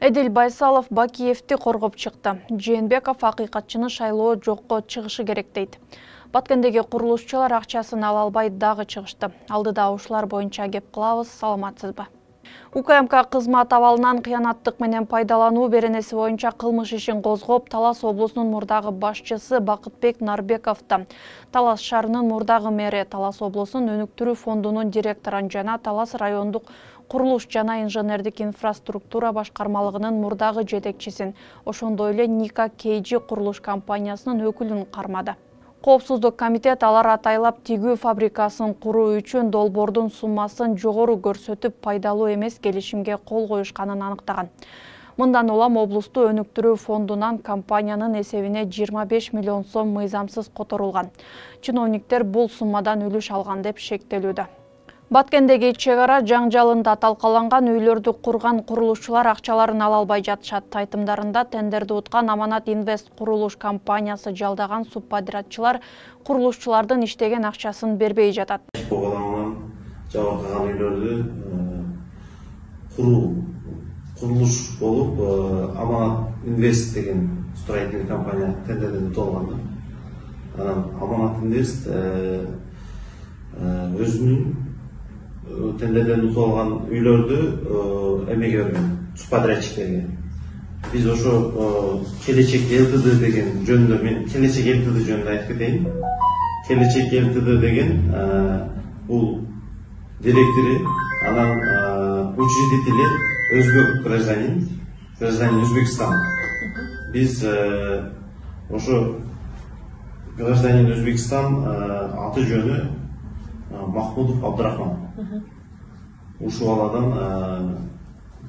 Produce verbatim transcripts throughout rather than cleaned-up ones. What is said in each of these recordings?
Эдил Байсалов Бакиевди коргоп чыкты. Жээнбеков акыйкатчыны шайлоо жокко чыгышы керек дейт. Баткендеги курулушчулар акчасын ала албай дагы чыгышты. Алдыда ушулар боюнча кеп кылабыз, саламатсызбы? УКМК кызмат абалынан кыянаттык менен пайдалануу беренеси боюнча кылмыш ишин козгоп, Талас облусунун мурдагы башчысы Бакытбек Нарбековду, Талас шаарынын мурдагы мэри, Талас облусунун өнүктүрүү фондунун директорун жана Талас райондук курулуш жана инженердик инфраструктура башкармалыгынын мурдагы жетекчисин, ошондой эле Ника Кейджи курулуш компаниясынын өкүлүн кармады. Коопсуздук комитет алар атайлап тигүү фабрикасын куруу үчүн долбоордун суммасын жогору көрсөтүп, пайдалуу эмес келишимге кол коюшканын аныктаган. Мындан улам облусту өнүктүрүү фондунан компаниянын эсебине жыйырма беш миллион сом мыйзамсыз которулган. Чиновниктер бул суммадан үлүш алган деп шектелүүдө. Баткендеги чек ара жаңжалында талкаланган үйлөрдү курган курулушчулар акчаларын ала албай жатышат. Айтымдарында тендерди уткан Аманат Инвест курулуш компаниясы жалдаган субподрядчылар курулушчулардын иштеген акчасын бербей жатат. Жабыркаган үйлөрдү куруу курулуш болуп, Аманат Инвест деген строительный компания тендерден утулган. Анан Аманат Инвест өзүнүн тендерден утулган үйлөрдү эмеге берген, субподрядчиктерге. Биз ошо Келечек ЛТД деген жөнүндө, мен Келечек ЛТД жөнүндө айтып кетейин. Келечек ЛТД деген бул директору, анан учредители өзбек гражданин, гражданин Өзбекстан. Биз ошо гражданин Өзбекстан аты жөнү Махмудов Абдрахман. Ушул баладан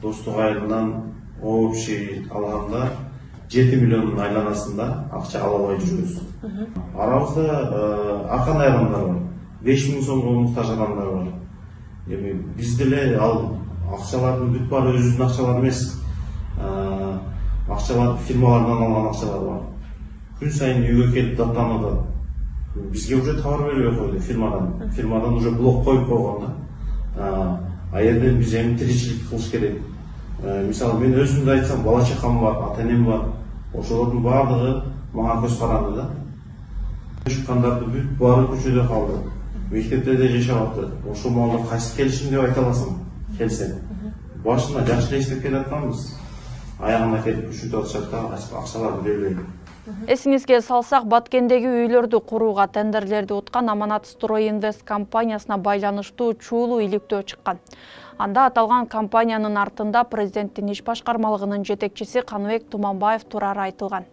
достук айылынан общий алганда жети миллиондун айланасында акча ала албай жүрөбүз. Арабызда ар кандай адамдар бар. беш миң сомго муктаж адамдар бар. Эми биз деле ал акчалардын бүт баары өзүбүздүн акчалар эмес. Акчалар фирмалардан алган акчалар бар. Күн сайын үйгө келип даттанып, бизге уже товар бербей койду фирмадан. Фирмадан уже блок коюп койгон да. А жерден биз эми тиричилик кылыш керек. Мисалы мен өзүмдү айтсам, бала чакам бар, ата энем бар. Ошолордун баардыгы мага көз каранды да. Чыккандарды бүт баары көчөдө калды. Мектепте де жашабатты. Ошол маалда кайсы келишим деп айта аласың, келсе. Башында жакшы эле иштеп келатканбыз. Аягына келип күчүтүп атышат да, акчаларды бербей. Эсиңизге салсак, Баткендеги үйлөрдү курууга тендерлерди уткан Аманат Строй Инвест компаниясына байланыштуу чуулуу иликтөө чыккан. Анда аталган компаниянын артында президенттин иш башкармалыгынын жетекчиси Каныбек Туманбаев турары айтылган.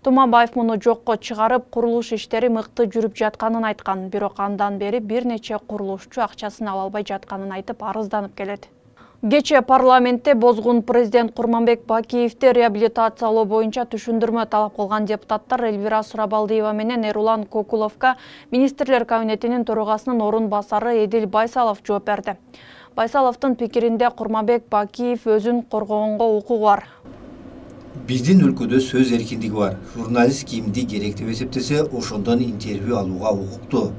Туманбаев муну жокко чыгарып, курулуш иштери мыкты жүрүп жатканын айткан, бирок андан бери бир нече курулушчу акчасын ала албай жатканын айтып арызданып келет. Кече парламентте бозгун президент Курманбек Бакиевди реабилитациялоо боюнча түшүндүрмө талап кылган депутаттар Эльвира Сурабалдиева менен Эрулан Кокуловго министрлер кабинетинин төрагасынын орун басары Эдил Байсалов жооп берди. Байсаловдун пикиринде Курманбек Бакиев өзүн коргогонго укугу бар. Биздин өлкөдө сөз эркиндиги бар. Журналист кимди керек деп эсептесе, ошондон интервью алууга укуктуу.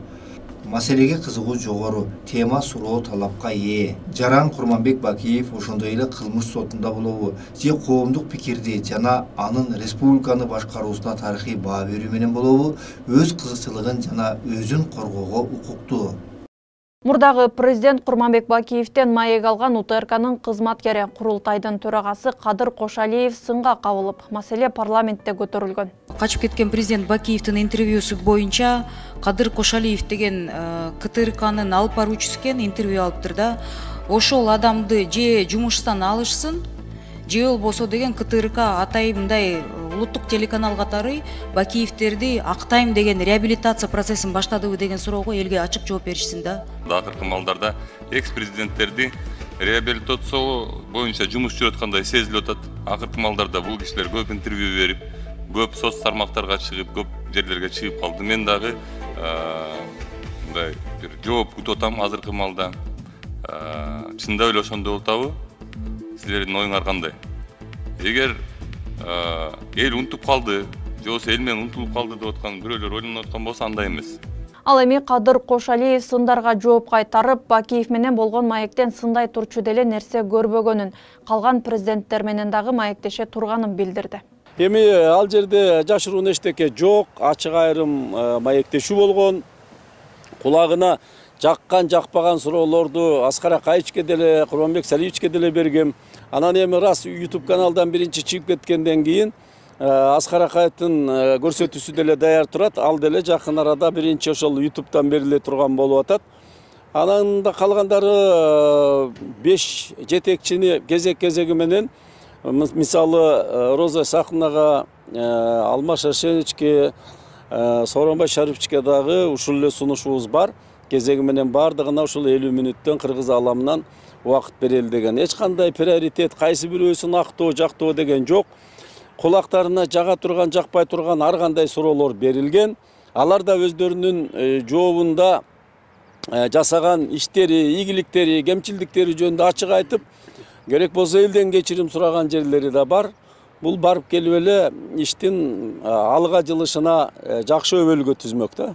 Маселеге кызыгуу жогору, тема суроо талапка ээ. Жаран Курманбек Бакиев ошондой эле кылмыш сотунда болобу, же коомдук пикирди жана анын республиканы башкаруусуна тарыхый баа берүү менен болобу, өз кызыкчылыгын жана өзүн коргоого укуктуу. Мурдагы президент Курманбек Бакиевден маек алган У Т Р К'нын кызматкери, курултайдын төрагасы Кадыр Кошалиев сынга кабылып, маселе парламентте көтөрүлгөн. Качып кеткен президент Бакиевдин интервьюсу боюнча Кадыр Кошалиев деген К Т Р К'нын алып баруучусу экен, интервью алыптыр да. Ошол адамды же жумуштан алышсын, же болбосо деген К Т Р К атайын мындай улуттук телеканал катары Бакиевдерди актайм деген реабилитация процессин баштадыбы деген суроого элге ачык жооп беришсин да. Акыркы маалдарда экс-президенттерди реабилитациялоо боюнча жумуш жүрүп аткандай сезилип атат. Акыркы маалдарда бул кишилер көп интервью берип, көп соц тармактарга чыгып, көп жерлерге чыгып калды. Мен дагы мындай бир жооп күтүп атам азыркы маалда. Чындап эле ошондой болтабы? Силердин оюңар кандай? Эгер эл унутуп калды, же болбосо эл менен унутулуп калды деп аткан бирөөлөр ойлонуп аткан болсо, андай эмес. Ал эми Кадыр Кошалиев сындарга жооп кайтарып, Бакиев менен болгон маектен сындай турчу деле нерсе көрбөгөнүн, калган президенттер менен дагы маектеше турганын билдирди. Эми ал жерде жашыруун эчтеке жок, ачык айрым маектешүү болгон. Кулагына жаккан жакпаган суроолорду Аскар Акаевичке деле, Курманбек Салиевичке деле бергем. Анан эми раз YouTube каналдан биринчи чыгып кеткенден кийин Аскар Акаевдин көрсөтүүсү деле даяр турат. Ал деле жакын арада биринчи ошол YouTube'дан бериле турган болуп атат. Анан да калгандары беш жетекчини кезек-кезеги менен, мисалы Роза Сахнага, Алмаз Шашеничке, Сооронбай Шариповичке дагы ушул эле сунушубуз бар. Кезеги менен бардыгына ушул элүү мүнөттөн Кыргыз аламынан убакыт берели деген. Эч кандай приоритет, кайсы бирөөсүн актоо, жактоо деген жок. Кулактарына жага турган, жакпай турган ар кандай суроолор берилген. Алар да өздөрүнүн жообунда жасаган иштери, ийгиликтери, кемчилдиктери жөнүндө ачык айтып, керек болсо элден кечирим сураган жерлери да бар. Бул барып келип эле иштин алга жылышына жакшы өбөлгө түзмөк да.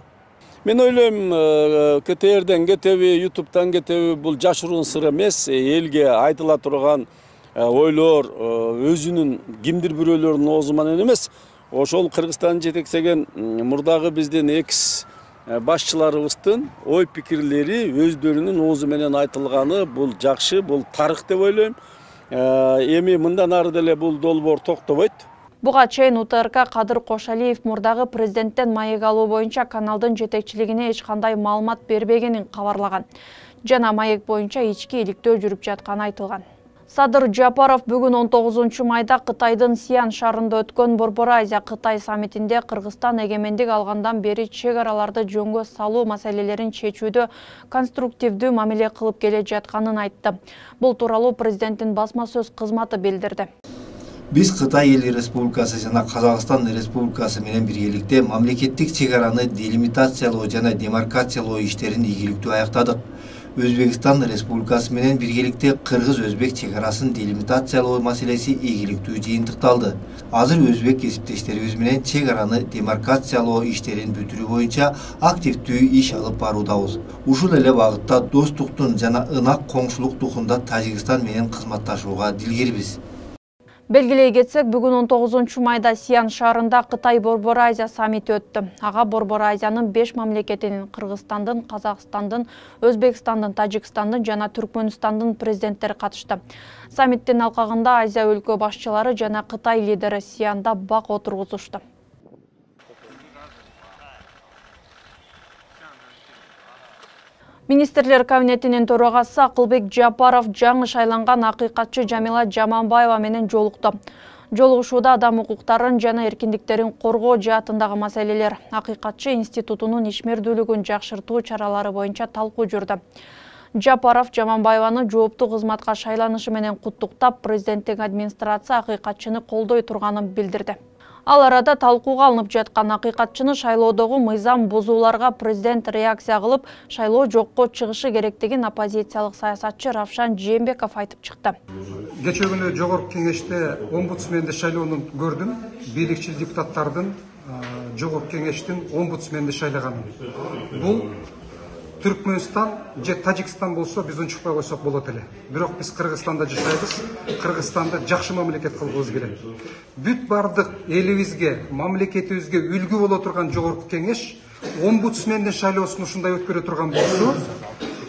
Мен ойлойм, КТРден кетеби, YouTube'дан кетеби, бул жашыруун сыр эмес, элге айтыла турган ойлор өзүнүн кимдир бирөөлөрдүн оозу менен эмес, ошол Кыргызстанды жетектеген мурдагы биздин экс башчыларыбыздын ой пикирлери өздөрүнүн оозу менен айтылганы бул жакшы, бул тарых деп ойлойм. Эми мындан ары деле бул долбоор токтобойт. Буга чейин У Т Р К Кадыр Кошалиев мурдагы президенттен маек алуу боюнча каналдын жетекчилигине эч кандай маалымат бербегенин кабарлаган. Жана маек боюнча ички иликтөө жүрүп жатканы айтылган. Садыр Жапаров бүгүн он тогузунчу майда Кытайдын Сиан шаарында өткөн Борбор Азия Кытай саммитинде Кыргызстан эгемендик алгандан бери чек араларды жөнгө салуу маселелерин чечүүдө конструктивдүү мамиле кылып келе жатканын айтты. Бул тууралуу президенттин басма сөз кызматы билдирди. Биз Кытай Эл Республикасы жана Казакстан Республикасы менен биргеликте мамлекеттик чек араны делимитациялоо жана демаркациялоо иштерин ийгиликтүү аяктадык. Өзбекстан Республикасы менен биргеликте Кыргыз-Өзбек чек арасын делимитациялоо маселеси ийгиликтүү жыйынтыкталды. Азыр өзбек кесиптештерибиз менен чек араны демаркациялоо иштерин бүтүрүү боюнча активдүү иш алып баруудабыз. Ушул эле багытта достуктун жана ынак коңшулук духунда Тажикстан менен кызматташууга дилгербиз. Белгилей кетсек, бүгүн он тогузунчу майда Сиан шаарында Кытай Борбор Азия саммити өттү. Ага Борбор Азиянын беш мамлекетинин Кыргызстандын, Казакстандын, Өзбекстандын, Тажикстандын жана Түркмөнстандын президенттери катышты. Саммиттин алкагында Азия өлкө башчылары жана Кытай лидери Сианда бак отургузушту. Министрлер кабинетинин төрагасы Акылбек Жапаров жаңы шайланган акыйкатчы Жамила Жаманбаева менен жолукту. Жолугушууда адам укуктарын жана эркиндиктерин коргоо жаатындагы маселелер, акыйкатчы институтунун ишмердүүлүгүн жакшыртуу чаралары боюнча талкуу жүрдү. Жапаров Жаманбаеваны жооптуу кызматка шайланышы менен куттуктап, президенттик администрация акыйкатчыны колдой турганын билдирди. Ал арада талкууга алынып жаткан акыйкатчыны шайлоодогу мыйзам бузууларга президент реакция кылып, шайлоо жокко чыгышы керектигин оппозициялык саясатчы Равшан Жээнбеков айтып чыкты. Кечээ күнү жогорку кеңеште омбудсменди шайлоону көрдүм. Бийликчил депутаттардын жогорку кеңештин омбудсменди шайлаганын. Бул Түркмөнстан же Тажикстан болсо биз унчукпай койсок болот эле. Бирок биз Кыргызстанда жашайбыз. Кыргызстанда жакшы мамлекет кылгыбыз келет. Бүт бардык элибизге, мамлекетибизге үлгү боло турган жогорку кеңеш омбудсмендин шайлоосун ушундай өткөрө турган болсо,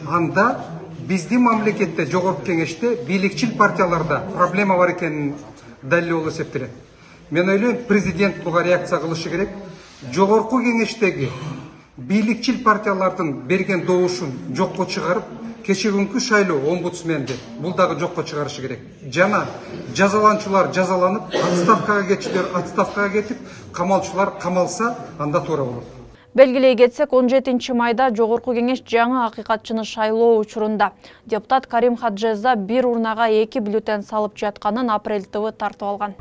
анда биздин мамлекетте жогорку кеңеште бийликчил партияларда проблема бар экенин далил болуп эсептелет. Мен ойлойм, президент буга реакция кылышы керек. Жогорку кеңештеги бийликчил партиялардын берген добушун жокко чыгарып, кечээ күнкү шайлоо омбудсменди бул дагы жокко чыгарышы керек. Жана жазаланчулар жазаланып, отставкага кетчилер отставкага кетип, камалчулар камалса, анда туура болот. Белгилей кетсек, он жетинчи майда жогорку кеңеш жаңы акыйкатчыны шайлоо учурунда депутат Карим Хаджеза бир урнага эки бюллетень салып жатканын Апрель ТВ тартып алган.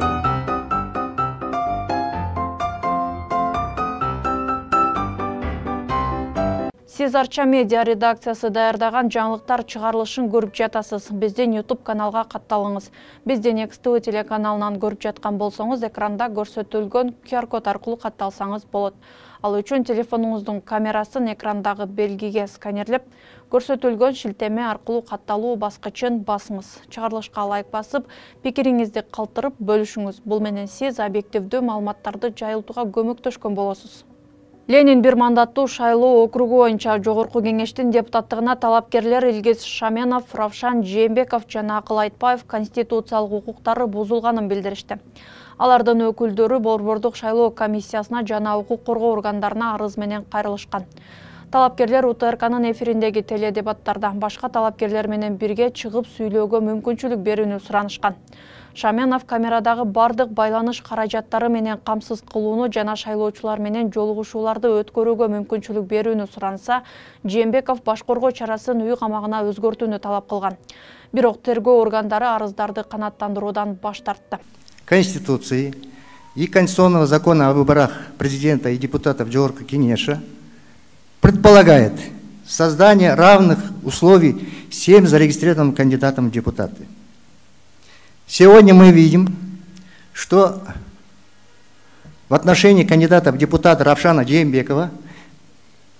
Сиз Арча медиа редакциясы даярдаган жаңылыктар чыгарылышын көрүп жатасыз. Биздин YouTube каналга катталыңыз. Биздин Экс Тэ Вэ телеканалынан көрүп жаткан болсоңуз, экранда көрсөтүлгөн Q R код аркылуу катталсаңыз болот. Ал үчүн телефонуңуздун камерасын экрандагы белгиге сканерлеп, көрсөтүлгөн шилтеме аркылуу катталуу баскычын басыңыз. Чыгарылышка лайк басып, пикириңизди калтырып бөлүшүңүз. Бул менен сиз объективдүү маалыматтарды жайылтууга көмөктөшкөн болосуз. Ленин бир мандаттуу шайлоо округу боюнча Жогорку кеңештин депутаттыгына талапкерлер Илгиз Шаменов, Равшан Жээнбеков жана Акыл Айтбаев конституциялык укуктары бузулганын билдиришти. Алардын өкүлдөрү Борбордук шайлоо комиссиясына жана укук коргоо органдарына арыз менен кайрылышкан. Талапкерлер У Т Р К'нын эфириндеги теледебаттарда башка талапкерлер менен бирге чыгып сүйлөөгө мүмкүнчүлүк берүүнү суранышкан. Шаменов камерадагы бардык байланыш каражаттары менен камсыз кылууну жана шайлоочулар менен жолугушууларды өткөрүүгө мүмкүнчүлүк берүүнү суранса, Жээнбеков баш коргоо чарасын үй камагына өзгөртүүнү талап кылган. Бирок тергөө органдары арыздарды канааттандыруудан баш тартты. Конституции и Конституционного закона о выборах президента и депутатов Жогорку Кеңеша предполагает создание равных условий всем зарегистрированным кандидатам в депутаты. Сегодня мы видим, что в отношении кандидата в депутаты Равшана Жээнбекова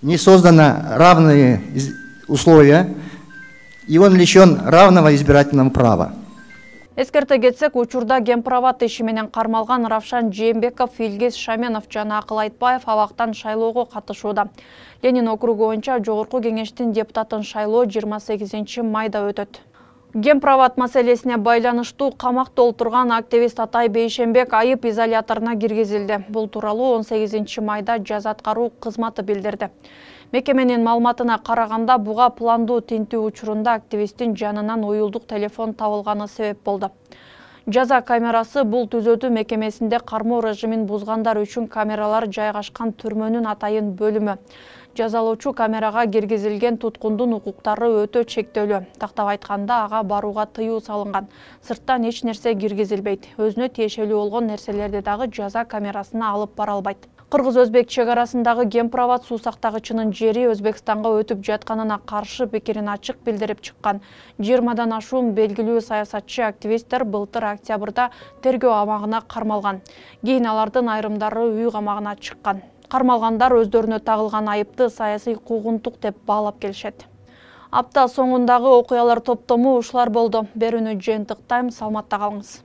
не созданы равные условия, и он лишен равного избирательного права. Эскерте кетсек, учурда Гемправат иши менен кармалган Равшан Жээнбеков, Илгиз Шаменов жана Акыл Айтбаев абактан шайлоого катышууда. Ленин округу боюнча Жогорку кеңештин депутатын шайлоо жыйырма сегизинчи майда өтөт. Гемправат маселесине байланыштуу камакта отурган активист Атай Бейшенбек айып изоляторуна киргизилди. Бул тууралуу он сегизинчи майда жаза аткаруу кызматы билдирди. Мекеменин маалыматына караганда, буга пландуу тинтүү учурунда активисттин жанынан уюлдук телефон табылганы себеп болду. Жаза камерасы бул түзөтүү мекемесинде кармоо режимин бузгандар үчүн камералар жайгашкан түрмөнүн атайын бөлүмү. Жазалоочу камерага киргизилген туткундун укуктары өтө чектөлүү. Тактап айтканда, ага барууга тыюу салынган. Сырттан эч нерсе киргизилбейт. Өзүнө тиешелүү болгон нерселерди дагы жаза камерасына алып бара албайт. Кыргыз-Өзбек чек арасындагы Гемправат суу сактагычынын жери Өзбекстанга өтүп жатканына каршы пикирин ачык билдирип чыккан. жыйырмадан ашуун белгилүү саясатчы активисттер былтыр октябрда тергөө абагына кармалган. Кийин алардын айрымдары үй камагына чыккан. Кармалгандар өздөрүнө тагылган айыпты саясий куугунтук деп баалап келишет. Апта соңундагы окуялар топтому ушулар болду. Берүүнү жыйынтыктайм, саламатта калыңыз.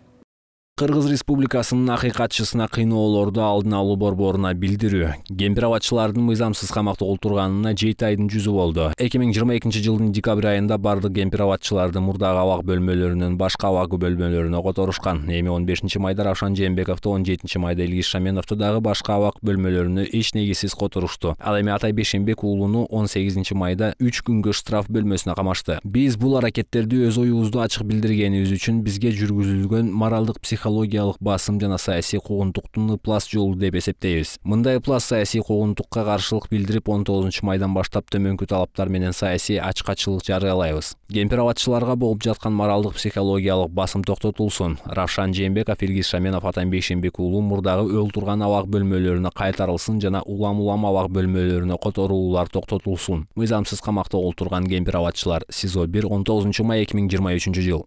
Кыргыз Республикасынын акыйкатчысына кыйноолорду алдын алуу борборуна билдирүү. Гемправатчылардын мыйзамсыз камакта отурганына жети айдын жүзү болду. эки миң жыйырма экинчи жылдын декабрь айында бардык гемправатчыларды мурдагы абак бөлмөлөрүнөн башка абак бөлмөлөрүнө которушкан. Эми он бешинчи майда Равшан Жээнбековду, он жетинчи майда Илгиз Шаменовду дагы башка абак бөлмөлөрүнө эч негизсиз которушту. Ал эми Атай Бейшенбек уулуну он сегизинчи майда үч күнгө штраф бөлмөсүнө камашты. Биз бул аракеттерди өз оюбузду ачык билдиргенибиз үчүн бизге жүргүзүлгөн моралдык психологиялык басым жана саясий куугунтуктун ыплас жолу деп эсептейбиз. Мындай ыплас саясий куугунтукка каршылык билдирип, он тогузунчу майдан баштап төмөнкү талаптар менен саясий ачкачылык жарыялайбыз. Гемправатчыларга болуп жаткан моралдык психологиялык басым токтотулсун. Равшан Жээнбеков, Илгиз Шаменов, Атай Бейшенбек уулу мурдагы өл турган абак бөлмөлөрүнө кайтарылсын жана улам-улам абак бөлмөлөрүнө которуулар токтотулсун. Мыйзамсыз камакта отурган гемправатчылар СИЗО бир он тогузунчу май эки миң жыйырма үчүнчү жыл.